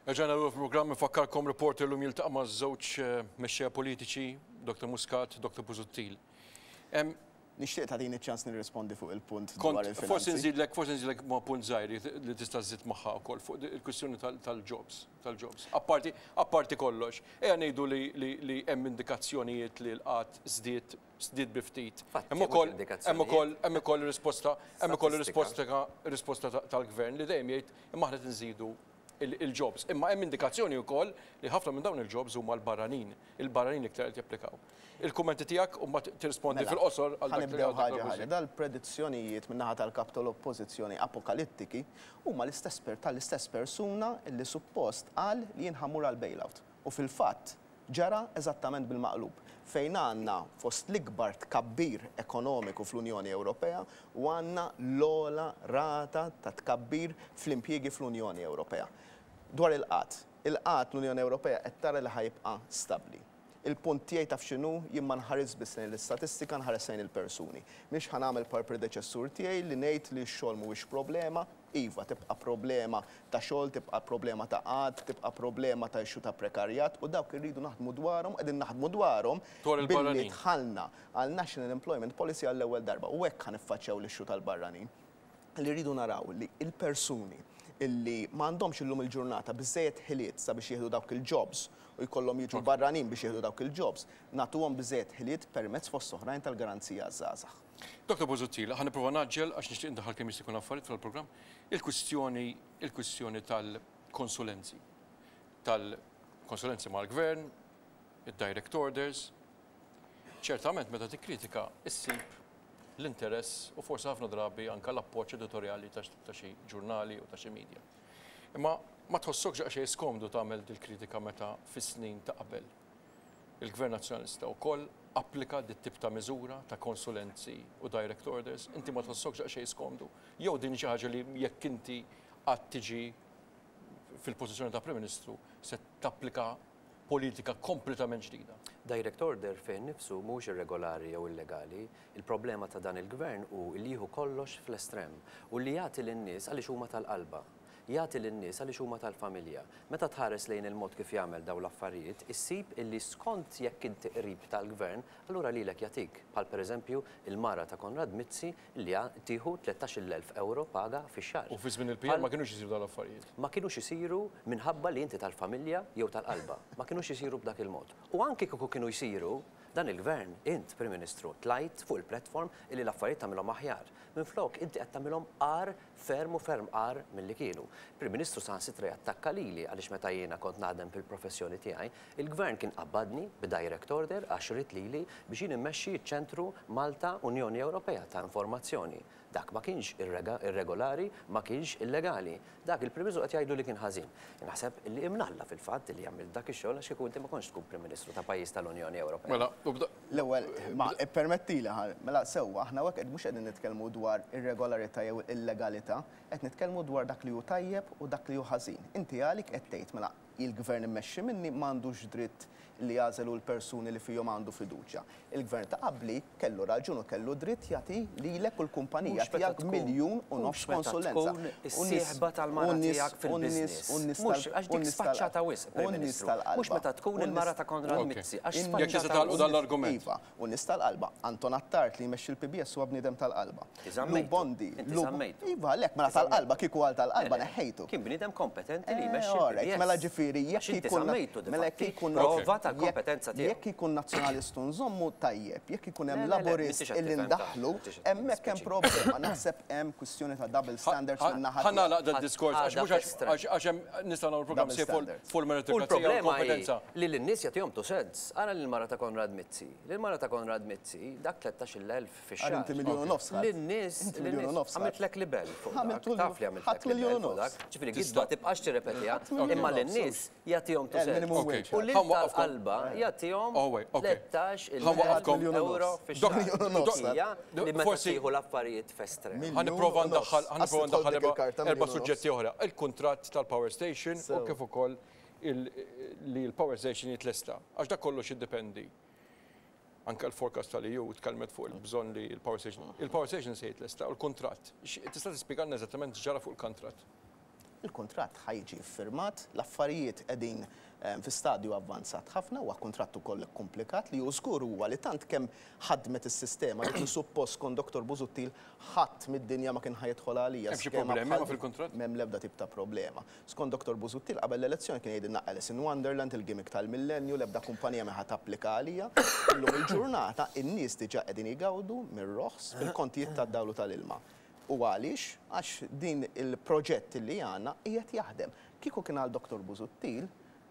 Erġajna lura fil-programm infakkarkom reporter llum jiltaqa' ma' żewġ mexxejja politiċi, Dr. Muscat, Dr. Busuttil. Nixtieq tagħtini ċ-ċans nirrispondi fuq il-punt dwar il-finanzi. Forsi nżidlek, forsi nżidlek ma' punt żgħir li tista' żżid magħha wkoll fuq il-kwistjoni tal-jobs, tal-jobs. Apparti, apparti kollox, ejja ngħidu li li hemm indikazzjonijiet li l-qgħad żdied, żdied bi ftit. Fatti, Hemm ukoll, mhux hemm ukoll, indikazzjonijiet. hemm ukoll risposta, hemm ukoll Statistika. risposta, risposta tal-gvern li dejjem jgħid imma aħna qed inżidu il-jobs. Imma hemm indikazzjoni wkoll li ħafna minn dawn il-jobs huma l-barranin, il-barranin iktar qed japplikaw. Il-kummenti tiegħek u mbagħad tirrispondi Mela, fil-qosor għal dak li ħa nibdew għal dak ħaġa li ħaġa. Busuttil. Dal-predizzjonijiet min-naħa tal-kap tal-oppożizzjoni apokalittiki huma l-istess per tal-istess persuna li suppost qal li jien ħa mmur għal bailout. U fil-fatt ġara eżattament bil-maqlub, fejn għandna fost l-ikbar tkabbir ekonomiku fl-Unjoni Ewropea u għandna l-ogħla rata ta' tkabbir fl-impjiegi fl-Unjoni Ewropea. Dwar il-qgħad, il-qgħad l-Unjoni Ewropea qed tara li ħa jibqa' stabbli. Il-punt tiegħi taf x'inhu, jien ma nħares biss lejn l-istatistika, nħares lejn il-persuni. Mhix ħa nagħmel par predeċessur tiegħi li ngħid li x-xogħol mhuwiex problema, iva tibqa' problema ta' xogħol, tibqa' problema ta' qgħad, tibqa' problema ta' issue ta' prekarjat u dawk irridu naħdmu dwarhom, qegħdin naħdmu dwarhom Dwar billi il-barranin. dħalna għal National Employment Policy għall-ewwel darba u hekk ħa niffaċċjaw l-issue tal-barranin. Li rridu naraw li il-persuni illi m'għandhomx illum il-ġurnata biżejjed ħiliet sabiex jieħdu dawk il-jobs u jkollhom jiġu barranin biex jieħdu dawk il-jobs, nagħtuhom biżejjed ħiliet permezz fost oħrajn tal-garanzija żgħażagħ. Dr. Busuttil, ħa nipprova ngħaġġel għax nixtieq ndaħħal kemm jista' jkun affarijiet fil-programm. Il-kwistjoni, il-kwistjoni tal-konsulenzi, tal-konsulenzi mal-gvern, id-direct orders. Ċertament meta tikkritika issib l-interess u forsi ħafna drabi anka l-appoġġ editorjali ta' xi ġurnali u ta' xi media. Imma ma tħossokx daqsxejn skomdu tagħmel dil-kritika meta fis-snin ta' qabel il-Gvern Nazzjonalista wkoll applika dit tip ta' miżura ta' konsulenzi u direct orders, inti ma tħossokx daqsxejn skomdu? Jew din xi ħaġa li jekk inti qatt tiġi fil-pożizzjoni ta' Prim Ministru se tapplika politika kompletament ġdida? Direct order fih nifsu mhux irregolari jew illegali. Il-problema ta' dan il-gvern hu li jieħu kollox fl-estrem u li jagħti lin-nies għaliex huma tal-qalba. Jagħti lin-nies għaliex huma tal-familja. Meta tħares lejn il-mod kif jagħmel dawn l-affarijiet, issib illi skont jekk inti qrib tal-gvern, allura lilek jagħtik. Bħal pereżempju il-mara ta' Konrad Mizzi li tieħu 13,000 euro paga fix-xahar. U fi żmien il-PN ma kinux isiru dawn l-affarijiet. Ma kinux isiru minħabba li inti tal-familja jew tal-qalba. Ma kinux isiru b'dak il-mod. U anki kieku kienu jsiru, dan il-gvern, int Prim Ministru, tlajt fuq il-platform illi l-affarijiet tagħmilhom aħjar. Minflok inti qed tagħmilhom agħar ferm u ferm agħar milli kienu. Prim Ministru saħansitra jattakka lili għaliex meta jiena kont naħdem fil-professjoni tiegħi, il-gvern kien qabbadni b'direct order għax ried lili biex jien immexxi ċ-ċentru Malta Unjoni Ewropea ta' Informazzjoni. Dak ma kienx irregolari, ma kienx illegali. Dak il-Prim Ministru qed jgħidu li kien ħażin. Naħseb li imnalla fil-fatt li jagħmel dak ix-xogħol għax kieku inti ma kontx tkun Prim Ministru ta' pajjiż tal-Unjoni Ewropea. Mela, u bda- L-ewwel, ma ippermettili ħa, mela sewwa aħna hawnhekk qed mhux qegħdin nitkellmu dwar irregolarità jew illegalità, qed nitkellmu dwar dak li hu tajjeb u dak li hu ħażin. Inti għalik qed tgħid mela il-gvern immexxi minni m'għandux dritt li jagħżel l-persuni li fihom għandu fiduċja. Il-gvern ta' qabli kellu raġun u kellu dritt jagħti lilek u l-kumpanija Mhux meta tiegħek tkun- miljun u mhux nofs meta konsulenza. tkun U nies- is-sieħba tal-mara u nies- tiegħek u nies- fil-business. u nies Mhux tal- għax u dik nies tal- sfaċċata wisq, Prim u nies Ministru. tal-qalba. Mhux meta tkun U nies- il-mara ta' Konrad Ok. Mizzi, għax In- Jekk tista' sfaċċata tagħlqu wisq. dan l-argument. Iva, u nies tal-qalba. Anton Attard li jmexxi l-PBS huwa bniedem tal-qalba. Inti żammejtu. Lou Bondi. Inti Lu- żammejtu. Iva, lek, mela Inti żammejtu. tal-qalba, kieku għal tal-qalba Le, le, neħħejtu. Kien bniedem kompetenti li Eh, jmexxi alright, l-PBS. Mela ġifieri, jekk Għax inti ikun żammejtu di mela jekk fatti, ikun prova tal-kompetenza tiegħu. Jekk ikun nazzjonalistu nżommu tajjeb, jekk ikun hemm Le, le, le, laburist m'intix qed illi tifhem ndaħlu, ta' m'intix qed hemmhekk hemm tispeċi. problema. Naħseb hemm kwistjoni ta' double standards min naħa Ħa nagħlaq tiegħek. dan diskors għax Għada mhux għax f'estrem. għax għax hemm nistgħu nagħmlu programm Double sej fuq standards. fuq U il-meritokrazija u l-problema hi l-kompetenza. li l-nies jagħtihom two cents. Ara lil-mara ta' Konrad Mizzi. Lil-mara ta' Konrad Mizzi dak 13,000 fix-xahar. Għar inti miljun u nofs ħadd. Lin-nies, Inti miljun u nofs ħadd. għamiltlek libel fuq dak. Għamiltu Taf li għamiltlek ħadd miljun u libel fuq nofs. dak. Ġifieri Tista' gidba tibqax tirrepetiha, Ħadd miljun imma u nofs, lin-nies jagħtihom two Eh, cents. minimum Ok. wage. U lil Ħa nwaqqafkom. tal-qalba jagħtihom Oh, wait, ok. 13 Ħa nwaqqafkom. Miljun u nofs. euro fix-xahar. Miljun u nofs. Hija li meta Forsi- tieħu l-affarijiet f'estrem. Miljun Ħa nipprova u nofs. ndaħħal ħa nipprova Għas tidħol ndaħħal dik il-karta erba' miljun u nofs. suġġetti oħra. Il-kuntratt tal-power station u Sew. kif ukoll li l-power station jitlesta. Għax dak kollox jiddependi. Anke l-forecast tal-EU tkellmet fuq il-bżonn li l-power station. Il-power station se jitlesta u l-kuntratt. Tista' tispjegalna eżattament x'ġara fuq il-kuntratt? Il-kuntratt ħa jiġi ffirmat, l-affarijiet qegħdin fi stadju avvanzat ħafna, huwa kuntratt ukoll ikkumplikat li hu żgur huwa li tant kemm ħadmet is-sistema li kien suppost skont Dottor Busuttil ħadd mid-dinja ma kien ħa jidħol għalija Hemm xi skema problemi bħal ma fil-kuntratt? M'hemm l-ebda tip ta' problema. Skont Dottor Busuttil qabel l-elezzjoni kien jgħidilna Alice in Wonderland, il-gimmick tal-millenju, l-ebda kumpanija m'hi ħa tapplika għalija. Illum il-ġurnata in-nies diġà qegħdin jgawdu mir-roħs fil-kontijiet tad-dawl u tal-ilma. U għaliex? Għax din il-proġett li għandna qiegħed jaħdem. Kieku kien għal Dottor Busuttil,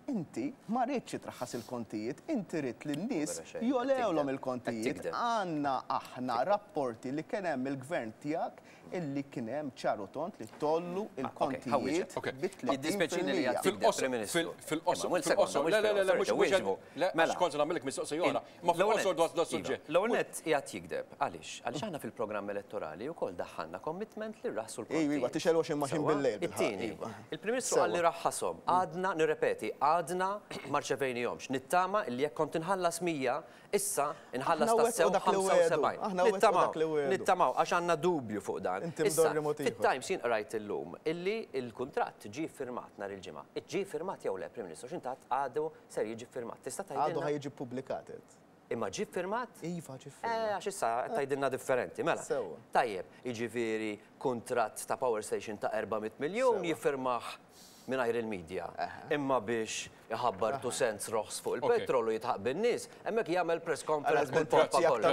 inti ma ridtx traħħas il-kontijiet, inti ridt li n-nies jogħlewlhom il-kontijiet. Għandna aħna rapporti li kien hemm il-gvern tiegħek illi kien hemm ċar u tond li tgħollu l-kontijiet bi 30%. Fil-qosor, fil-qosor, fil-qosor, le, le, le, mhux mhux, le, għax kont se nagħmillek mistoqsija oħra, imma fil-qosor dwar das-suġġett. L-ewwel nett qiegħed jigdeb. Għaliex? Għaliex aħna fil-programm elettorali wkoll daħħalna commitment li rraħħsu l-kontijiet. Iva, iva, tixgħel washing machine bil-lejl bilħaqq. It-tieni, il-Prim Ministru qal li raħħashom. Għadna, nirrepeti, għadna ma rċevejnihomx. Nittama illi jekk kont inħallas 100, issa inħallas tassew 75. Nittamaw, nittamaw, għax għandna dubju fuq dan. Issa, fit-Times jien qrajt illum illi l-kuntratt ġie ffirmat nhar il-Ġimgħa. Ġie ffirmat jew le, Prim Ministru, għax int għedt għadu ser jiġi ffirmat. Tista' tgħidilna? Għadu ħa jiġi ppubblikat, għedt. Imma ġie ffirmat? Iva, ġie ffirmat. Eh, għax issa qed tgħidilna differenti. Mela. Sewwa. Tajjeb, jiġifieri kuntratt ta' power station ta' 400 miljun jiffirmah mingħajr il-media. Imma biex iħabbar two cents roħs fuq il-petrol u jidħaq bin-nies, hemmhekk jagħmel press conference bil-pompa kollha.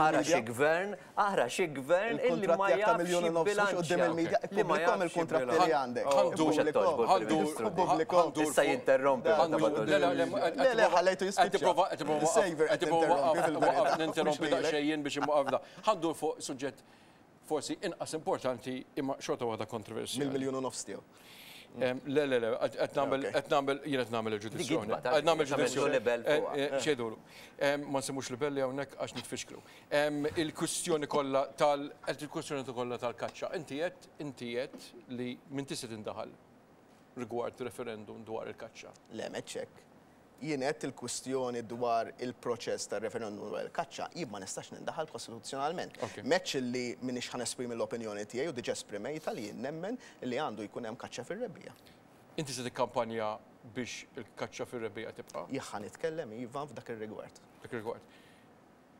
Ara xi gvern, ara xi gvern illi ma jafx jibbilanċja. Li ma jafx jibbilanċja. Mhux qed togħġbu l-Prim Ministru. Issa jinterrompi meta ma Le, le, le, Le, le, ħallejtu jispiċċa. Qed nipprova ninterrompi daqsxejn jien biex imwaqqaf da. Ħa ndur fuq suġġett forsi inqas importanti imma xorta waħda kontroversjali. Mill-miljun u nofs tiegħu. Le, le, le, qed nagħmel, qed nagħmel, jien qed nagħmel il-ġudizzjoni. Qed nagħmel ġudizzjoni. X'jgħidulu. Ma nsemmux libelli hawnhekk għax nitfixklu. Il-kwistjoni kollha tal, il-kwistjoni kollha tal-kaċċa. Inti għedt, inti għedt li m'intix se tindaħal rigward referendum dwar il-kaċċa. Le, m'għedtx hekk. Jien għedt il-kwistjoni dwar il-proċess tar-referendum dwar il-kaċċa, jien ma nistax nindaħal kostituzzjonalment. M'għedtx illi m'iniex ħa nesprimi l-opinjoni tiegħi u diġà esprimejtha li jien nemmen li għandu jkun hemm kaċċa fir-rebbiegħa. Inti se tikkampanja biex il-kaċċa fir-rebbiegħa tibqa'? Jien ħa nitkellem, iva, f'dak ir-rigward. F'dak ir-rigward.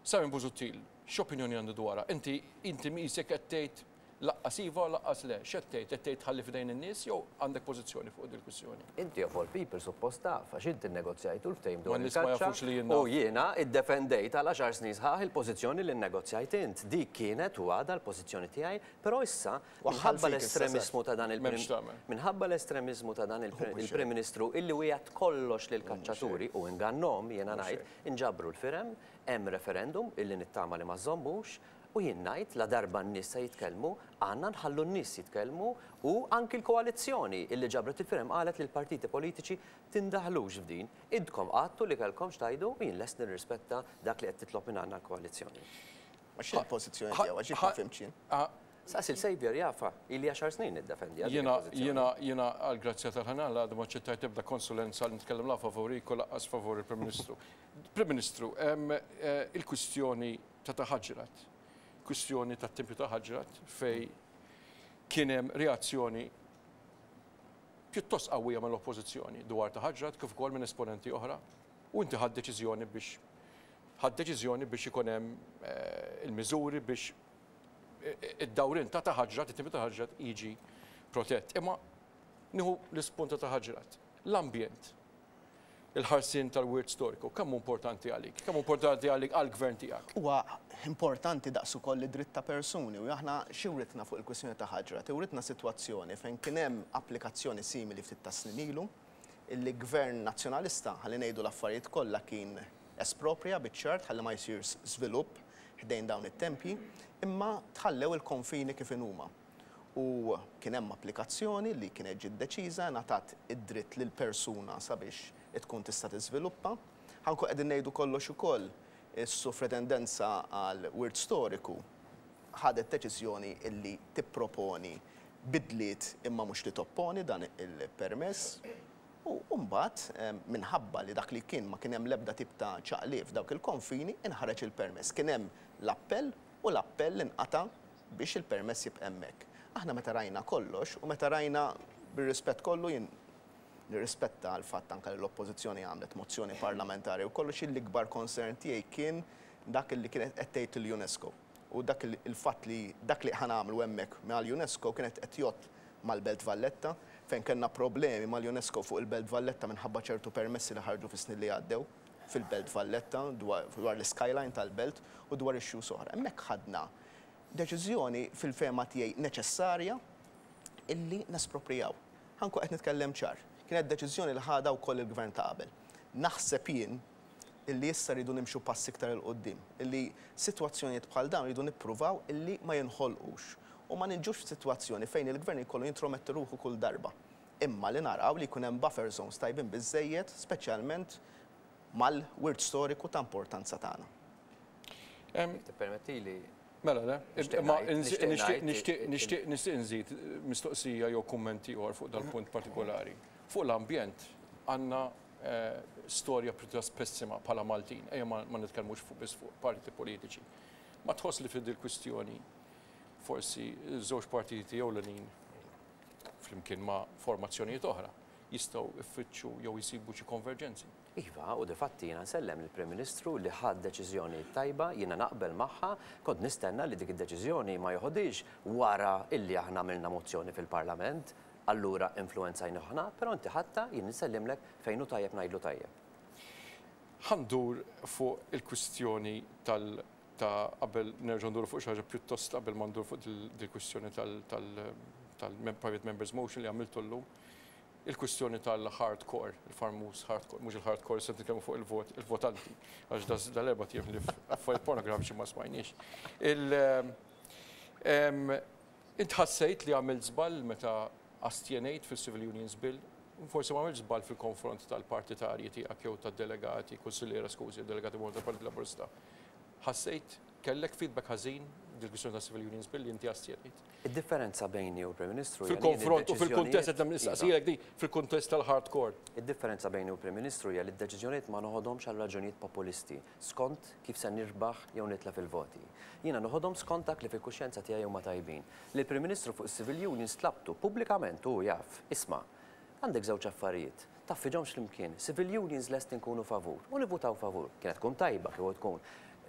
Simon Busuttil, x'opinjoni għandu dwarha? Inti, inti qisek qed tgħid Laqqas iva u laqqas le. X'qed tgħid? Qed tgħid ħalli f'idejn in-nies jew għandek pożizzjoni fuq dil-kwistjoni? Inti of all people suppost taf, għax inti nnegozjajtu l-ftehim dwar Ma n-nies ma il-kaċċa jafux li jien naf. u jiena iddefendejt għal għaxar snin sħaħ il-pożizzjoni li nnegozjajt int. Dik kienet u għadha l-pożizzjoni tiegħi, però issa Waħħal minħabba fik issa, Seth. l-estremiżmu ta' dan il-Prim M'hemmx x'tagħmel. minħabba l-estremiżmu ta' dan Mhux il-Prim hekk. Ministru illi wiegħed kollox lill-kaċċaturi u ingannhom, jiena Mhux ngħid, hekk. inġabru l-firem, hemm referendum illi nittama li ma żżommux, U jien ngħid, ladarba n-nies se jitkellmu, għandna nħallu n-nies jitkellmu u anki l-koalizzjoni illi ġabret il-firem qalet lill-partiti politiċi tindaħlux f'din. Intkom għadtu li kellkom x'tgħidu u jien lest nirrispetta dak li qed titlob minn għandna l-koalizzjoni. Ma x'inhi l-pożizzjoni tiegħu għax jien ma fhimtx jien. Saqsi l-Saviour jafha, ili għaxar snin niddefendiha dik Jiena, il-pożizzjoni. jiena, jiena għall-grazzja tal-ħanan għadu ma aċċettajt ebda konsulenza li nitkellem la favorik u lanqas favur il-Prim Ministru. Prim Ministru, il-kwistjoni ta' Ta' Ħaġrat, kwistjoni tat-Tempju ta' Ħaġrat fejn kien hemm reazzjoni pjuttost qawwija mill-Oppożizzjoni dwar ta' Ħaġrat kif ukoll minn esponenti oħra u inti ħadt deċiżjoni biex ħadt deċiżjoni biex ikun hemm il-miżuri biex id-dawrien ta' ta' Ħaġrat, it-Tempju ta' Ħaġrat jiġi protett. Imma nieħu l-ispunt ta' ta' Ħaġrat. L-ambjent. Il-ħarsien tal-wirt storiku, kemm hu importanti għalik? Kemm hu importanti għalik għall-gvern tiegħek? Huwa importanti daqs ukoll id-dritt ta' persuni u aħna xi writna fuq il-kwistjoni ta' Ħaġrat? Iwritna sitwazzjoni fejn kien hemm applikazzjoni simili ftit tas-snin ilu illi gvern Nazzjonalista, ħalli ngħidu l-affarijiet kollha, kien esproprja biċ-ċert ħalli ma jsirx żvilupp ħdejn dawn it-tempji, imma tħallew il-konfini kif inhuma. U kien hemm applikazzjoni li kienet ġiet deċiża, ngħatat id-dritt lil persuna sabiex tkun tista' tiżviluppa. Ħa nkun qegħdin ngħidu kollox ukoll, is-Sufretendenza għal Wirt Storiku ħadet deċiżjoni illi tipproponi bidliet imma mhux li topponi dan il-permess. U mbagħad, minħabba li dak li kien ma kien hemm l-ebda tip ta' ċaqliq f'dawk il-konfini, inħareġ il-permess. Kien hemm l-appell u l-appell inqata' biex il-permess jibqa' hemmhekk. Aħna meta rajna kollox u meta rajna bir-rispett kollu jien nirrispetta l-fatt anke li l-Oppożizzjoni għamlet mozzjoni parlamentari u kollox l-ikbar concern tiegħi kien dak li kienet qed tgħid il-UNESCO. U dak il-fatt li dak li ħa nagħmlu hemmhekk mal-UNESCO kienet qed jgħodd mal-Belt Valletta, fejn kellna problemi mal-UNESCO fuq il-Belt Valletta minħabba ċertu permessi li ħarġu fis-snin li għaddew fil-Belt Valletta dwar l-skyline tal-belt u dwar issues oħra. Hemmhekk ħadna deċiżjoni fil-fehma tiegħi neċessarja illi nesproprijaw. Ħa nkun qed nitkellem ċar. Kienet deċiżjoni li ħadha wkoll il-gvern ta' qabel. Naħseb jien illi issa rridu nimxu pass iktar 'il quddiem, illi sitwazzjonijiet bħal dawn rridu nippruvaw illi ma jinħolqux u ma niġux f'sitwazzjoni fejn il-gvern jkollu jintrometti ruħu kull darba. Imma li naraw li jkun hemm buffer zones tajbin biżżejjed, speċjalment mal-wirt storiku ta' importanza tagħna. Jekk tippermettili. Mela le, imma nixtieq nixtieq nixtieq nżid mistoqsija jew kumment ieħor fuq dal-punt partikolari. Fuq l-ambjent għandna storja pjuttost pessima bħala Maltin, ejja ma nitkellmux fuq biss fuq partiti politiċi. Ma tħoss li fid kwistjoni forsi żewġ partiti ewlenin flimkien ma' formazzjonijiet oħra jistgħu jfittxu jew jsibu xi konverġenzi? Iva, u difatti jiena nsellem lill-Prim Ministru li ħa d-deċiżjoni t-tajba, jiena naqbel magħha, kont nistenna li dik id-deċiżjoni ma joħodhiex wara illi aħna għamilna mozzjoni fil-Parlament, allura influwenzajnih aħna, però inti ħadtha, jien insellimlek, fejn hu tajjeb ngħidlu tajjeb. Ħa ndur fuq il-kwistjoni tal ta' qabel nerġgħu nduru fuq xi ħaġa pjuttost qabel ma ndur fuq dil-kwistjoni tal tal-private members motion li għamiltu llum. Il-kwistjoni tal-hardcore, il-famuż hardcore, mhux il-hardcore se nitkellmu fuq il-vot, il-votanti, għax dal-erbat ijiem li affarijiet pornografiċi ma smajniex. Int ħassejt li għamilt żball meta astjenejt fil-Civil Unions Bill? Forsi ma għamilt żball fil-konfront tal-partitarji tiegħek jew tad-delegati, kunsilliera skużi, delegati tal-Partit Laburista. Ħassejt kellek feedback ħażin dil-kwistjoni ta' Civil Unions Bill li inti astjenejt? Id-differenza bejni u l-Prim Ministru hija li jien Fil-konfront u fil-kuntest id-deċiżjonijiet qed nistaqsijek di, fil-kuntest tal-hardcore. Id-differenza bejni u l-Prim Ministru hija li d-deċiżjonijiet ma noħodhomx għal raġunijiet populisti, skont kif se nirbaħ jew nitlef il-voti. Jiena noħodhom skont dak li fil-kuxjenza tiegħi huma tajbin. Lill-Prim Ministru fuq is-civil unions tlabtu pubblikament u hu jaf, isma', għandek żewġ affarijiet, tgħaffiġhomx flimkien, civil unions lesti nkunu favur u nivvutaw favur. Kienet tkun tajba kieku tkun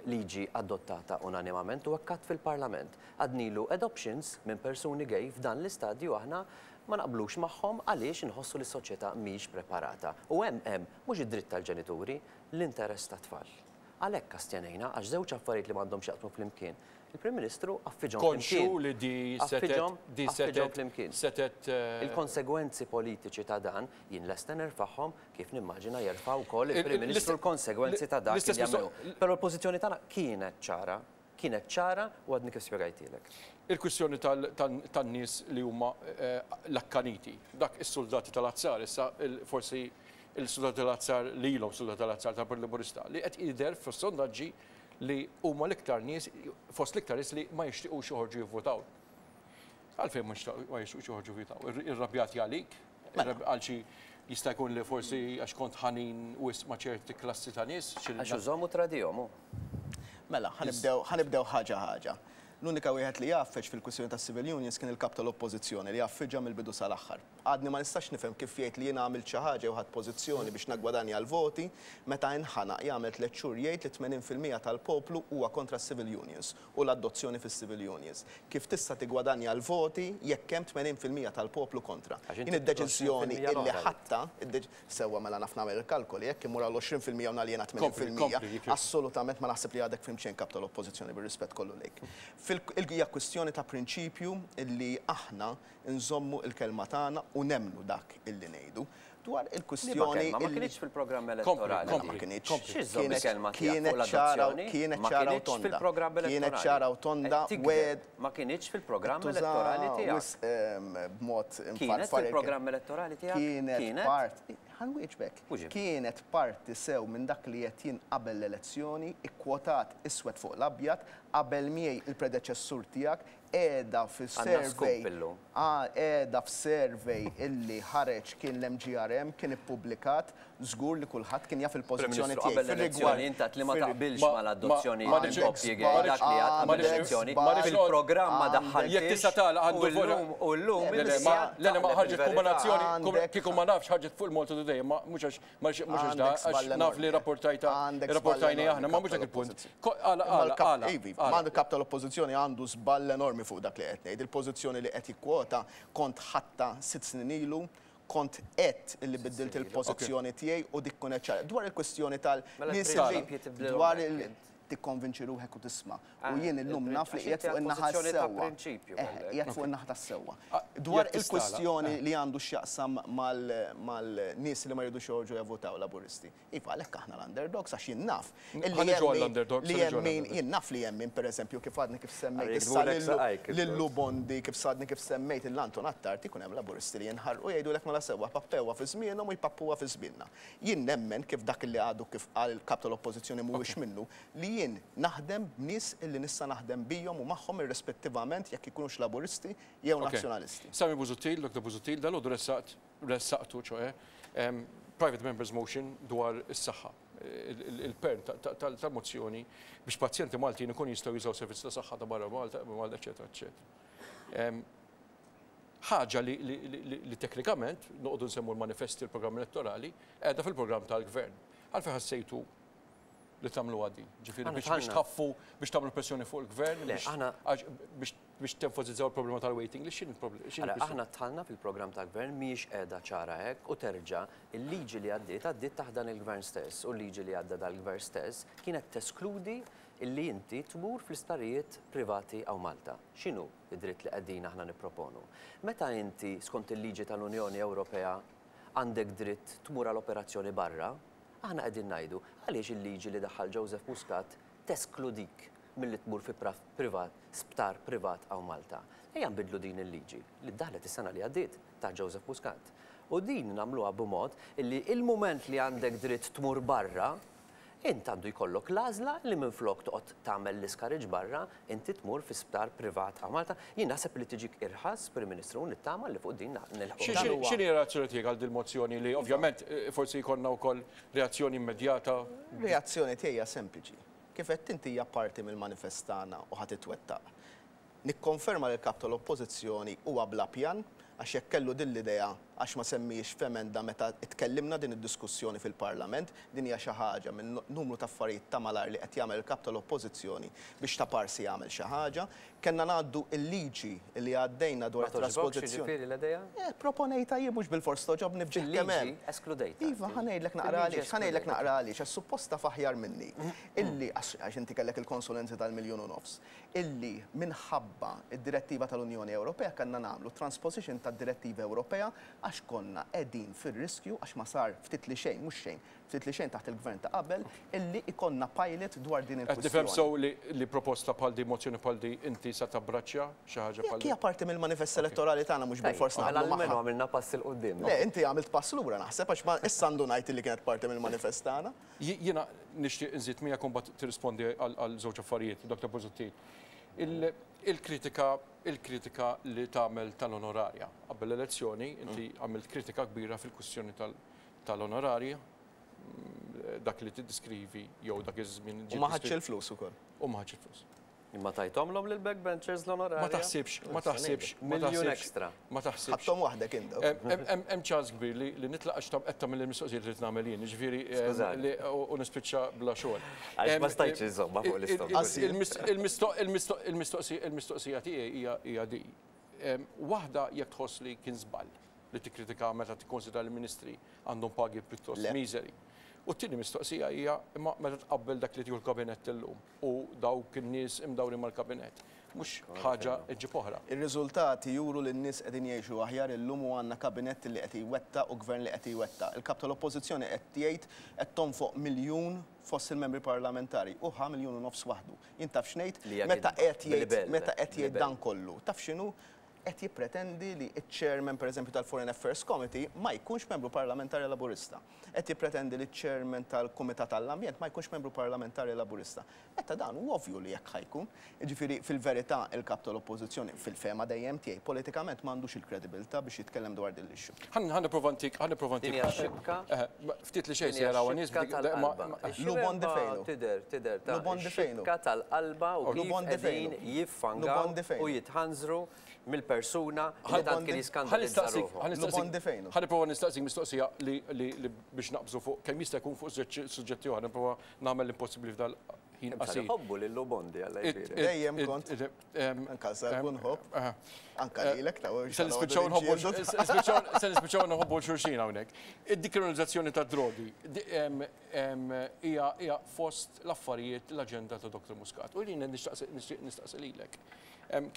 liġi adottata unanimament u hekk għad fil-Parlament. Għadnilu adoptions minn persuni gay f'dan l-istadju aħna ma naqblux magħhom għaliex inħossu li s-soċjetà mhix preparata. U hemm hemm mhux id-dritt tal-ġenituri, l-interess tat-tfal. Għalhekk astjenejna għax żewġ affarijiet li m'għandhomx jaqsmu flimkien. Il-Prim Ministru għaffiġhom Konxju flimkien. li di setgħet Għaffiġhom, di għaffiġhom setgħet flimkien. setgħet Il-konsegwenzi politiċi ta' dan jien lesta nerfagħhom kif nimmaġina jerfa' wkoll il-Prim Ministru l-konsegwenzi ta' dak li jagħmlu. Però l-pożizzjoni tagħna kienet ċara, kienet ċara u għadni kif spjegajtilek. Il-kwistjoni tan-nies li huma l-akkaniti, dak is-soldati tal-azzar, issa forsi il-soldati tal-azzar li ilhom soldati tal-azzar tal-Partit Laburista li qed jidher fis-sondaġġi li huma l-iktar nies fost l-iktar nies li ma jixtiequx joħorġu jivvotaw. Għalfejn ma jixtiequx joħorġu jivvotaw? Irrabjati għalik? Għal xi jista' jkun li forsi għax kont ħanin wisq ma' ċerti klassi ta' nies? Għax użhom u tradihom hu. Mela, ħa nibdew ħa nibdew ħaġa ħaġa. L-unika wieħed li għaffeġ fil-kwistjoni tas-civil unions kien il-kap tal-Oppożizzjoni li għaffiġha mill-bidu sal-aħħar. Għadni ma nistax nifhem kif jgħid li jiena għamilt xi ħaġa jew ħadt pożizzjoni biex naggwadanja l-voti meta inħanaq jagħmel tliet xhur jgħid li 80% tal-poplu huwa kontra s-civil unions u l-adozzjoni fis-civil unions. Kif tista' tiggwadanja l-voti jekk hemm 80% tal-poplu kontra? Għax inti Jien id-deċiżjoni 20% illi l-oħra. ħadtha, sewwa mela naf nagħmel il-kalkoli, jekk immur għal 20% u naljena 80%, Kompli, kompli, assolutament ma naħseb li għadek fhimt xejn kap tal-Oppożizzjoni bir-rispett kollu lejk. Hija kwistjoni ta' prinċipju illi aħna nżommu il-kelma tagħna u nemmnu dak illi ngħidu. Dwar il-kwistjoni Liema kelma? Ma illi kinitx fil-programm Kompli, elettorali. kompli, Ma kinitx. kompli. Xi żżomm Kienet il-kelma tiegħek kienet fuq ċara l-adozzjoni? kienet Ma ċara u kinitx tonda. fil-programm Kienet elettorali. ċara u tonda Qed tikdeb. wed Ma kinitx fil-programm tuża elettorali tiegħek. wisq, b'mod Kienet infarfar il-kelma. fil-programm elettorali tiegħek? Kienet Kienet? part. Ħa nwieġbek. Kienet parti sew minn dak li għedt jien qabel l-elezzjoni, ikkwotat iswed fuq l-abjad, qabel miegħi il-predeċessur tiegħek, qiegħda fis-survey, qiegħda f'survey illi ħareġ kien l-MGRM, kien ippubblikat, żgur li kulħadd kien jaf il-pożizzjoni tiegħi. Qabel l-elezzjoni int għedt li ma taqbilx mal-adozzjoni tal-koppji gay, dak li għedt qabel l-elezzjoni, fil-programm ma daħħaltiex. Jekk tista' tagħlaq għandu U llum Le, le, ma, le, le, ma ħarġet kombinazzjoni, kieku ma nafx ħarġet fuq il-Malta Today, ma mhux għax mhux għax da, għax naf li rapportajta, rapportajni aħna, ma mhux dak il-punt. Għala, għala, għala. Ma l-kap tal-oppożizzjoni għandu żball enormi fuq dak li qed ngħid. Il-pożizzjoni li qed jikkwota kont ħadtha sitt snin ilu, kont għedt illi biddilt il-pożizzjoni tiegħi u dik kienet ċara. Dwar il-kwistjoni tal-nies li dwar il tikkonvinċi ruħek u tisma'. U jien illum naf li qiegħed fuq in-naħa s-sewwa. Qiegħed fuq in-naħa tas-sewwa. Dwar il-kwistjoni li għandu x'jaqsam mal-nies li ma jridux joħorġu javvutaw Laburisti. Iva, għalhekk aħna l-underdogs għax jien naf illi hemm min, jien naf li hemm min pereżempju kif għadni kif semmejt issa lil Lou Bondi, kif għadni kif semmejt lil Anton Attard, ikun hemm Laburisti li jinħarqu jgħidulek mela sewwa pappewha fi żmienhom u jpappuha fi żmienna. Jien nemmen kif dak li għadu kif qal il-Kap tal-Oppożizzjoni mhuwiex minnu, li jien naħdem b'nies illi nista' naħdem bihom u magħhom irrispettivament jekk ikunux Laburisti jew Nazzjonalisti. Simon Busuttil, Dr. Busuttil, dalgħodu ressaqt ressaqtu, ċoe, private members motion dwar is-saħħa, il-pern tal-mozzjoni biex pazjenti Maltin ikun jistgħu jużaw servizz ta' saħħa ta' barra Malta, Malta, eċetera, eċetera. Ħaġa li teknikament, noqogħdu nsemmu l-manifesti, l-programm elettorali, qiegħda fil-programm tal-gvern. Għalfejn ħassejtu li tagħmluha din? Ġifieri biex tħaffu, biex tagħmlu pressjoni fuq il-gvern, biex biex tenfasizzaw il-problema tal-waiting list, x'inhi l-problema? Aħna dħalna fil-programm tal-gvern mhijiex qiegħda ċara hekk u terġa' il-liġi li għaddiet għaddiet taħt dan il-gvern stess u l-liġi li għadda dal-gvern stess kienet teskludi illi inti tmur fl-isptarijiet privati hawn Malta. X'inhu d-dritt li qegħdin aħna nipproponu? Meta inti skont il-liġi tal-Unjoni Ewropea għandek dritt tmur għal operazzjoni barra, aħna qegħdin ngħidu għaliex il-liġi li daħħal Joseph Muscat teskludik milli tmur fi privat, sptar privat hawn Malta. Ejja nbiddlu din il-liġi li ddaħlet is-sena li għaddiet taħt Joseph Muscat. U din nagħmluha b'mod illi il-mument li għandek dritt tmur barra, int għandu jkollok l-għażla li minflok toqgħod tagħmel l-iskarriġ barra, inti tmur fi sptar privat hawn Malta. Jien naħseb li tiġik irħas, Prim Ministru, u nittama li fuq din nilħqu. X'inhi r-reazzjoni tiegħek għal dil-mozzjoni li ovvjament forsi jkollna wkoll reazzjoni immedjata? Reazzjoni tiegħi hija sempliċi. Kif għedt inti hija parti mill-manifest tagħna u ħa titwettaq. Nikkonferma li l-Kap tal-Oppożizzjoni huwa bla pjan għax jekk kellu din l-idea għax ma semmihiex f'emenda meta tkellimna din id-diskussjoni fil-Parlament, din hija xi ħaġa minn numru ta' affarijiet ta' malajr li qed jagħmel il-Kap tal-Oppożizzjoni biex ta' parsi jagħmel xi ħaġa. Kellna ngħaddu l-liġi li għaddejna dwar Ma togħġbokx it-traspożizzjoni. jiġifieri l-idea? Eh, proponejtha jien mhux bilfors togħġobni f'ġieħ kemm hemm. Fil-liġi eskludejtha Iva, inti. ħa ngħidlek naqra Fil-liġi għaliex, ħa ngħidlek eskludejtha. naqra għaliex, għax suppost taf aħjar minni illi, għax inti kellek il-konsulenzi tal-miljun u nofs, illi minħabba d-direttiva tal-Unjoni Ewropea kellna nagħmlu transposition tad-direttiva Ewropea għax konna qegħdin fir-riskju, għax ma sar ftit li xejn, mhux xejn, ftit li xejn taħt il-gvern ta' qabel, illi jkollna pilot dwar din Qed nifhem il-kwistjoni. sew li li proposta bħal din, mozzjoni bħal din, inti sa tabbraċċja xi ħaġa bħal Jekk din? hija parti mill-manifest elettorali tagħna mhux bilfors Mela naqblu almenu magħha. għamilna pass 'il quddiem. Le, inti għamilt pass lura naħseb għax ma issa ndunajt illi kienet parti mill-manifest tagħna. Jiena nixtieq inżid miegħek u mbagħad tirrispondi għal żewġ affarijiet, Dr. Busuttil. Il-kritika il-kritika li tagħmel tal-onorarja. Qabel l-elezzjoni inti għamilt kritika kbira fil-kwistjoni tal-onorarja, dak li tiddiskrivi jew dak iż-żmien U ma ħadx il-flus ukoll. U ma ħadx il-flus. Imma tajthomlhom lill-backbenchers l-onorarja? Ma taħsibx, ma taħsibx, ma Miljun taħsibx. ekstra. Ma taħsibx. Ħadthom waħdek indaw. Hemm ċans kbir li nitlaq għax qed tagħmel il-mistoqsijiet li nagħmel jien, jiġifieri Skużani. u nispiċċa bla xogħol. Għax ma stajtx inżommha fuq l-istonku. Il-mistoqsija tiegħi hija di. Waħda jekk tħoss li kien żball li tikkritika meta tikkonsidra li l-ministri għandhom pagi pjuttost miżeri. U t-tieni mistoqsija hija imma meta tqabbel dak li tieħu l-kabinett illum u dawk in-nies imdawrin mal-kabinett, mhux ħaġa ġġib oħra. Ir-riżultati juru li n-nies qegħdin jgħixu aħjar illum u għandna kabinett li qed jwettaq u gvern li qed jwettaq. Il-kap tal-Oppożizzjoni qed jgħid qed tonfoq miljun fost il-membri parlamentari u ħa 1.5 miljon waħdu. Jien taf x'ngħid? Li hija Meta kidba. qed jgħid Bil-libell, meta qed jgħid bil-libell. dan kollu. Taf x'inhu? Qed jippretendi li ċ-chairman, pereżempju, tal-Foreign Affairs Committee ma jkunx membru parlamentari Laburista. Qed jippretendi li ċ-chairman tal-Kumitat għall-Ambjent ma jkunx membru parlamentari Laburista. Meta dan hu ovvju li hekk ħa jkun. Jiġifieri, fil-verità, il-Kap tal-Oppożizzjoni, fil-fehma dejjem tiegħi, politikament m'għandux il-kredibilità biex jitkellem dwar din l-issue. Ħa nipprova ntik, ħa nipprova ntik. Din hija x-xibka. Ftit li xejn se jaraw in-nies. Din hija x-xibka tal-qalba. Lu fejnu. Tidher, tidher ta' x-xibka tal-qalba u kif qegħdin jiffangaw u jitħanżru mill-persuna li tant kien jiskandalizza ruħu. Ħa nipprova nistaqsik mistoqsija li biex naqbżu fuq kemm jista' jkun fuq suġġetti oħra, nipprova nagħmel l-impossibbli f'dal-ħin qasir. Nħobbu lil Bondi Alla jbierek. Dejjem kont. Anka sa jkun ħobb. Anka lilek ta' Se nispiċċaw nħobbu se nispiċċaw nħobbu xulxin hawnhekk. Id-dikriminalizzazzjoni tad-drogi hija fost l-affarijiet l-aġenda ta' Dr. Muscat. U jien nistaqsi lilek.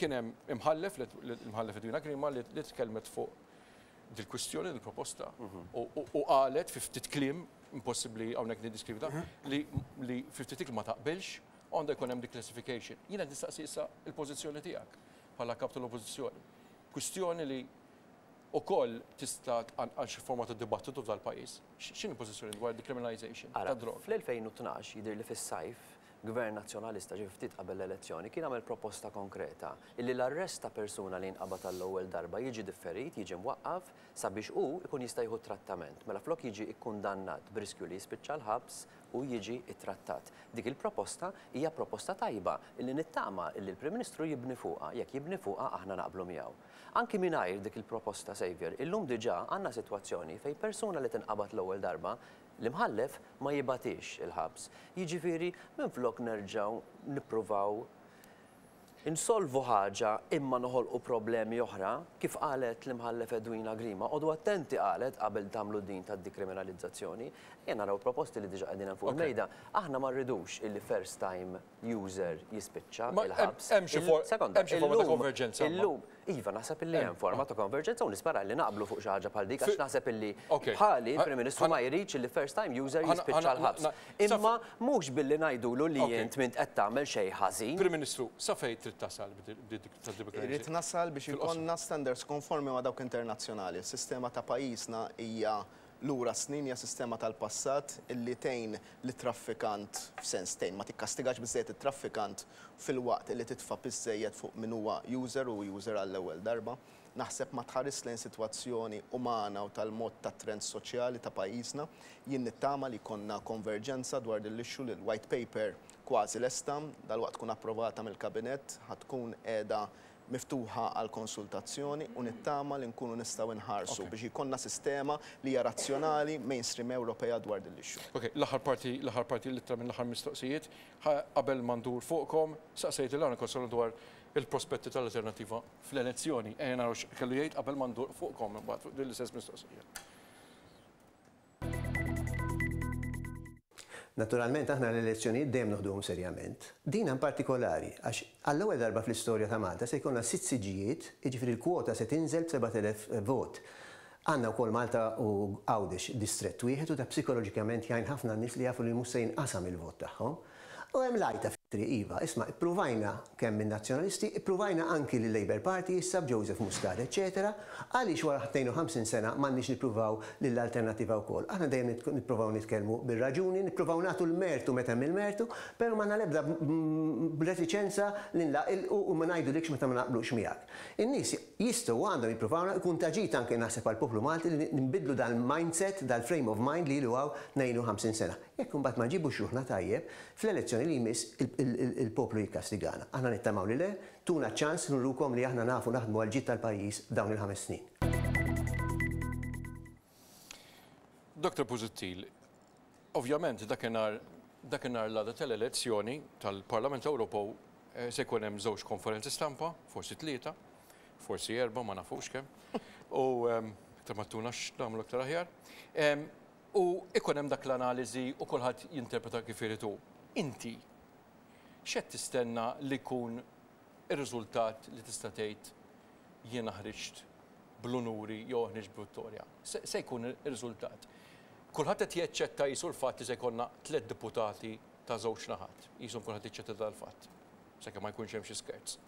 Kien hemm imħallef, l-imħallef Edwina Grima li tkellmet fuq dil-kwistjoni, dil-proposta, u qalet fi ftit kliem, impossibbli hawnhekk niddiskrivi da, li fi ftit kliem ma taqbilx, u għandha jkun hemm declassification. Jiena qed nistaqsi issa l-pożizzjoni tiegħek bħala kap tal-Oppożizzjoni. Kwistjoni li wkoll tista' tqanqal xi forma ta' dibattitu f'dal-pajjiż. X'inhi l-pożizzjoni dwar decriminalization tad-droga? Fl-2012, jidhirli fis-sajf, Gvern Nazzjonalista, ġifieri ftit qabel l-elezzjoni, kien għamel proposta konkreta illi l-arrest ta' persuna li jinqabad għall-ewwel darba jiġi differit, jiġi mwaqqaf, sabiex hu jkun jista' jieħu t-trattament. Mela flok jiġi ikkundannat b'riskju li jispiċċa l-ħabs, hu jiġi ttrattat. Dik il-proposta hija proposta tajba illi nittama illi l-Prim Ministru jibni fuqha. Jekk jibni fuqha aħna naqblu miegħu. Anki mingħajr dik il-proposta, Saviour, illum diġà għandna sitwazzjoni fejn persuna li tinqabad l-ewwel darba L-imħallef ma jibgħatiex il-ħabs. Jiġifieri minflok nerġgħu nippruvaw insolvu ħaġa imma noħolqu problemi oħra, kif qalet l-Imħallef Edwina Grima, qogħdu attenti qalet qabel tagħmlu din tad-dikriminalizzazzjoni. Ejja naraw il-proposti li diġà qegħdin hemm fuq il-mejda. Aħna ma rridux illi first time user jispiċċa l-ħabs. Hemm xi forma ta' konverġenza. Illum, Iva, naħseb illi hemm forma ta' konverġenza u nispera li naqblu fuq xi ħaġa bħal dik għax naħseb illi bħali il-Prim Ministru ma jridx illi first time user jispiċċa l-ħabs. Imma mhux billi ngħidulu li int m'int qed tagħmel xejn ħażin. Prim Ministru, sa fejn trid tasal b'dik tad-decriminalization? Irrid nasal biex ikollna standards konformi ma' dawk internazzjonali. Is-sistema ta' pajjiżna hija lura snin, hija sistema tal-passat illi tgħin lit-traffikant, f'sens tgħin, ma tikkastigax biżżejjed it-traffikant filwaqt illi titfa' piż żejjed fuq min huwa user u user għall-ewwel darba. Naħseb ma tħarisx lejn sitwazzjoni umana u tal-mod tat-trends soċjali ta' pajjiżna. Jien nittama li jkollna konverġenza dwar din l-issue li l-white paper kważi lesta, dalwaqt tkun approvata mill-Kabinett, ħa tkun qiegħda miftuħa għal konsultazzjoni u nittama li nkunu nistgħu nħarsu biex jkollna sistema li hija razzjonali, mainstream Ewropea dwar din l-issue. Ok, l-aħħar parti, l-aħħar parti l-ittra minn l-aħħar mistoqsijiet. Qabel ma ndur fuqkom, saqsejt lil Aaron Costello dwar il-prospetti tal-Alternattiva fl-elezzjoni. Ejja naraw x'kellu jgħid qabel ma ndur fuqkom imbagħad fuq din l-istess mistoqsija. Naturalment aħna l-elezzjonijiet dejjem noħduhom serjament. Din in partikolari għax għall-ewwel darba fl-istorja ta' Malta se jkollna sitt siġġijiet, jiġifieri l-kwota se tinżel b'7,000 vot. Għandna wkoll Malta u Għawdex distrett wieħed u dak psikoloġikament jgħin ħafna n-nies li jafu li mhux se jinqasam il-vot tagħhom. U hemm l-għajta fit-triq, iva, isma' ippruvajna kemm min-Nazzjonalisti, ippruvajna anki lil-Labour Party issa b'Joseph Muscat eċċetera, għaliex wara 52 sena m'għandniex nippruvaw lill-Alternattiva wkoll? Aħna dejjem nippruvaw nitkellmu bir-raġuni, nippruvaw nagħtu l-mertu meta hemm il-mertu, però m'għandna l-ebda retiċenza li nlaqilqu u ma ngħidulikx meta ma naqblux miegħek. In-nies jistgħu u għandhom jippruvawna, ikun ta' ġid anke naħseb għall-poplu Malti li nbiddlu dal-mindset, dal-frame of mind li ilu hawn 52 sena. Jekk imbagħad ma nġibux ruħna tajjeb, fl-elezzjoni li jmiss il-poplu jikkastigana. Aħna nittamaw li le, tuna ċ-ċans nurukom li aħna nafu naħdmu għall-ġid tal-pajjiż f'dawn il-ħames snin. Dottor Busuttil, ovvjament dakinhar dakinhar l-għada tal-elezzjoni tal-Parlament Ewropew se jkun hemm żewġ konferenzi stampa, forsi tlieta, forsi erbgħa, ma nafux kemm, u iktar ma ttuna x'nagħmlu iktar aħjar. U ikun hemm dak l-analiżi u kulħadd jinterpreta kif irid hu. Inti x'qed tistenna li jkun ir-riżultat li tista' tgħid jiena ħriġt bl-unuri jew ħriġt b'vittorja? Se jkun ir-riżultat? Kulħadd qed jaċċetta qisu l-fatt li se jkollna tliet deputati ta' żewġ naħat. Qishom kulħadd jaċċetta dal-fatt. Sakemm ma jkunx hemm xi skerz.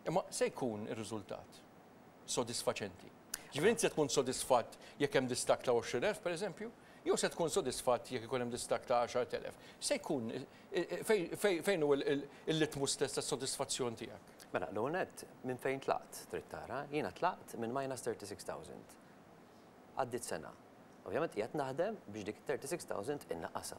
Imma se jkun ir-riżultat? sodisfaċenti? Ġifieri inti se tkun sodisfatt jekk hemm distakk ta' 20,000 pereżempju, jew se tkun sodisfatt jekk ikun hemm distakk ta' 10,000? Se jkun fejn hu il-litmu stess tas-sodisfazzjon tiegħek? Mela, l-ewwel nett, minn fejn tlaqt trid tara, jiena tlaqt minn minus 36,000. Għaddiet sena. Ovvjament qiegħed naħdem biex dik 36,000 innaqqasha.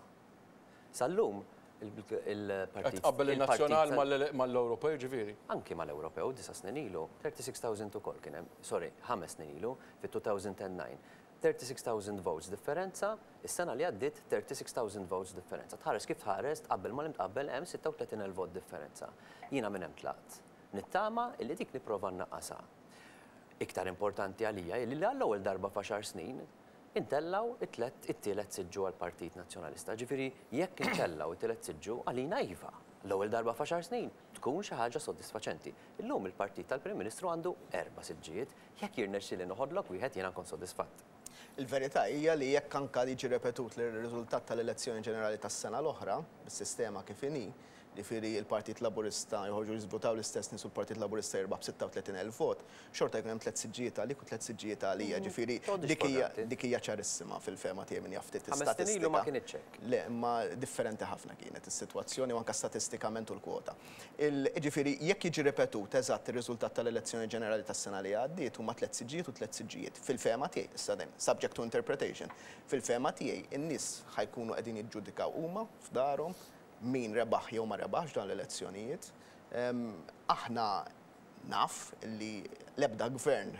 Sal-lum il-partit. Qed tqabbel in-nazzjonal mal-Ewropew ġifieri? Anki mal-Ewropew, disa' snin ilu, 36,000 ukoll kien hemm, sorry, ħames snin ilu, fit-2009. 36,000 votes differenza, is-sena li għaddiet 36,000 votes differenza. Tħares kif tħares, tqabbel ma' li mtqabbel hemm 36,000 vot differenza. Jiena minn hemm tlaqt. Nittama illi dik nipprova nnaqqasha. Iktar importanti għalija hi li għall-ewwel darba f'għaxar snin intellgħu it-tlett it-tielet siġġu għall-Partit Nazzjonalista. Ġifieri jekk intellgħu it-tielet siġġu għalina iva, l-ewwel darba f'għaxar snin, tkun xi ħaġa sodisfaċenti. Illum il-partit tal-Prim Ministru għandu erba' siġġijiet, jekk jirnexxieli noħodlok wieħed jiena nkun sodisfatt. Il-verità hija li jekk anke jiġi repetut l-riżultat tal-elezzjoni ġenerali tas-sena l-oħra, bis-sistema kif inhi, Jiġifieri l-Partit Laburista joħorġu jiżvutaw l-istess nies u l-Partit Laburista jirbaħ b'36,000 vot, xorta jkun hemm tlett siġġijiet għalik u tlett siġġijiet għalija. Jiġifieri dik hija dik hija ċarissima fil-fehma tiegħi min jaf ftit Ħames snin ilu ma kinitx hekk. Le, imma differenti ħafna kienet is-sitwazzjoni u anke statistikament u l-kwota. Jiġifieri jekk jiġi ripetut eżatt ir-riżultat tal-elezzjoni ġenerali tas-sena li għaddiet huma tlett siġġijiet u tlett siġġijiet. Fil-fehma tiegħi, issa din subject to interpretation, fil-fehma tiegħi in-nies ħa jkunu qegħdin jiġġudikaw huma f'darhom min rebaħ jew ma rebaħx dawn l-elezzjonijiet. Aħna naf li l-ebda gvern,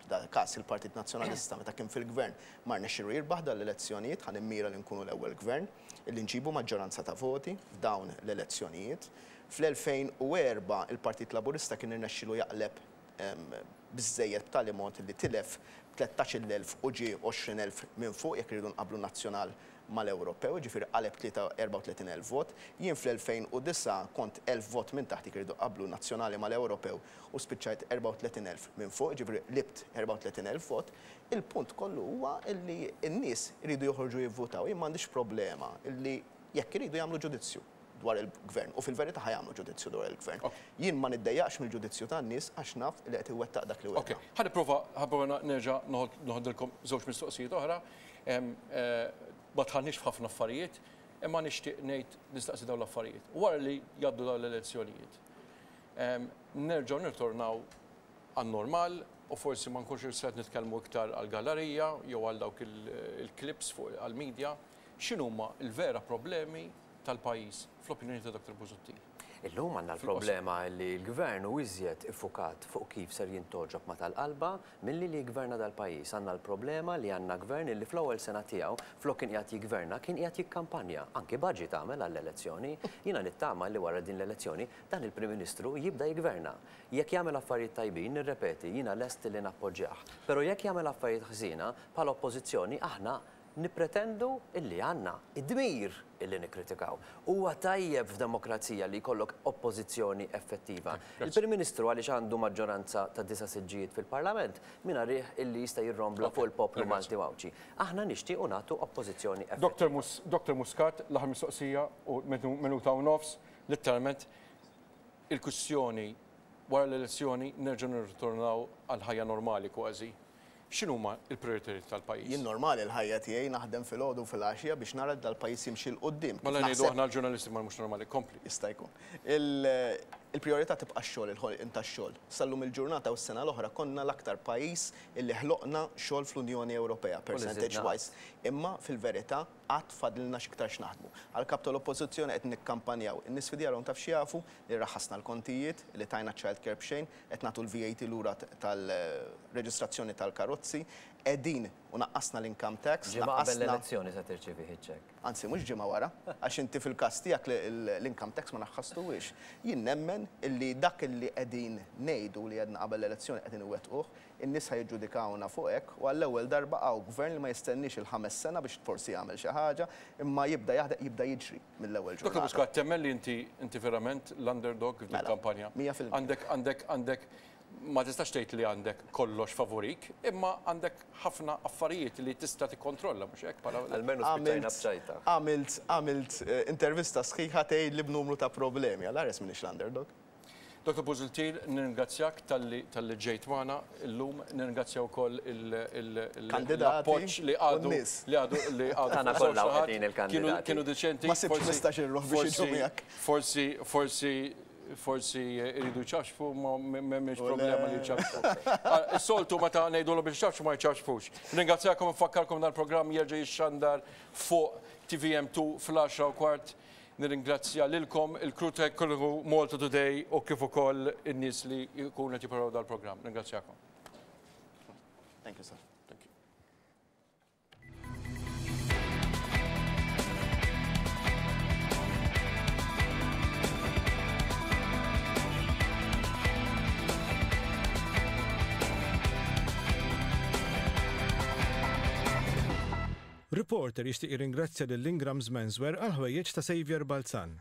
f'dal-każ il-Partit Nazzjonalista meta kien fil-gvern, ma rnexxielu jirbaħ dawn l-elezzjonijiet, ħa nimmira li nkunu l-ewwel gvern illi nġibu maġġoranza ta' voti f'dawn l-elezzjonijiet. Fl-2004 il-Partit Laburista kien irnexxielu jaqleb biżżejjed b'tali mod li tilef 13,000 u ġie 20,000 minn fuq jekk irridu nqabblu n-nazzjonal mal-Ewropew, jiġifieri qaleb 34,000 vot. Jien fl-2009 kont 1,000 vot minn taħt jekk irridu nqabblu n-nazzjonali mal-Ewropew u spiċċajt 34,000 minn fuq, jiġifieri qlibt 34,000 vot. Il-punt kollu huwa li n-nies iridu joħorġu jivvutaw. Jien m'għandix problema li jekk iridu jagħmlu ġudizzju dwar il-Gvern, u fil-verità ħa jagħmlu ġudizzju dwar il-Gvern. Jien ma niddejjaqx mill-ġudizzju tan-nies għax naf li qed iwettaq dak li wegħda. Ħa nipprova ħa nipprova nerġa' noħodilkom żewġ mistoqsijiet oħra. Ma dħalniex f'ħafna affarijiet, imma nixtieq ngħid nistaqsi dawn l-affarijiet. Wara li jgħaddu dawn l-elezzjonijiet, nerġgħu nirtornaw għan-normal u forsi ma nkunx qed nitkellmu iktar għall-gallerija jew għal dawk il-clips fuq għall-media, x'inhuma l-vera problemi tal-pajjiż fl-opinjoni ta' Dr. Busuttil? Illum għandna l-problema li l-Gvern hu iżjed iffukat fuq kif ser jintgħoġob ma' tal-qalba milli li jiggverna dal-pajjiż. Għandna l-problema li għandna Gvern illi fl-ewwel sena tiegħu, flok kien qiegħed jiggverna, kien qiegħed jikkampanja. Anki budget għamel għall-elezzjoni. Jiena nittama li wara din l-elezzjoni dan il-Prim Ministru jibda jiggverna. Jekk jagħmel affarijiet tajbin, nirrepeti, jiena lest li nappoġġjah. Però jekk jagħmel affarijiet ħżiena, bħala Oppożizzjoni aħna Nippretendu illi għandna d-dmir illi nikkritikaw. Huwa tajjeb f'demokrazija li jkollok oppożizzjoni effettiva. Il-Prim Ministru għaliex għandu maġġoranza ta' disa' siġġijiet fil-Parlament mingħalih illi jista' jirrombla fuq il-poplu Malti u Għawdxi. Aħna nixtiequ nagħtu oppożizzjoni effettiva. Dr Muscat, l-aħħar mistoqsija u minuta u nofs, litteralment il-kwistjoni wara l-elezzjoni nerġgħu nirritornaw għall-ħajja normali kważi. X'inhuma l-prijoritajiet tal-pajjiż? Jien normali l-ħajja tiegħi naħdem filgħodu u filgħaxija biex nara li dal-pajjiż jimxi 'l quddiem. Kif Mela ngħidu aħna l-ġurnalisti ma mhux normali. Kompli. Jista' jkun. Il-prijorità tibqa' x-xogħol, il-ħolqien tax-xogħol. Sal-lum il-ġurnata u s-sena l-oħra konna l-aktar pajjiż illi ħloqna xogħol fl-Unjoni Ewropea, percentage wise. Imma fil-verità għad fadlilna x'iktar x'naħdmu. Għall-Kap tal-Oppożizzjoni qed nikkampanjaw. In-nies fi djarhom taf x'jafu? Li raħħasna l-kontijiet, li tajna ċ-child care b'xejn, qed nagħtu l-VAT lura tal-reġistrazzjoni tal-karozzi, qegħdin u naqqasna l-income tax, Ġimgħa qabel l-elezzjoni se tirċievih iċ-ċekk. Anzi, mhux ġimgħa wara, għax inti fil-każ tiegħek l-income tax ma naqqastuhiex. Jien nemmen illi dak illi qegħdin ngħidu li għedna qabel l-elezzjoni qegħdin iwettquh, in-nies ħa jiġġudikawna fuq hekk u għall-ewwel darba hawn gvern li ma jistenniex il-ħames sena biex forsi jagħmel xi ħaġa, imma jibda jaħdem, jibda jiġri. mill-ewwel ġurnata. Dottor Muscat, temmen li inti inti verament l-underdog f'din il-kampanja? Mela, 100%. Għandek għandek għandek ma tistax tgħid li għandek kollox favorik, imma għandek ħafna affarijiet li tista' tikkontrolla, mhux hekk bħala. Almenu spiċċajna b'ċajta. Għamilt għamilt intervista sħiħa tgħidli b'numru ta' problemi, għal ħares m'iniex l-underdog. Dr. Busuttil, nirringrazzjak talli talli ġejt magħna illum, nirringrazzja wkoll l-appoġġ li għadu li għadu li għadu. Tagħna kollha qegħdin il-kandidati. Kienu deċenti. Ma sibx 15-il ruħ biex jiġu miegħek. Forsi forsi forsi jridu jċafxfu ma m'hemmx problema li jċafxfu. Is-soltu meta ngħidulhom biex jċafxfu ma jċafxfux. Nirringrazzjakom nfakkarkom dal-programm jerġa' jixxandar fuq TVM2 fl-10:15. Nirringrazzja lilkom, il-crew tekniku Malta Today u kif ukoll in-nies li jkunu qed jippreparaw dal-programm. Nirringrazzjakom. Thank you, sir. Thank you. Reporter jixtieq jirringrazzja lil Ingram's Menswear għall-ħwejjeġ ta' Saviour Balzan.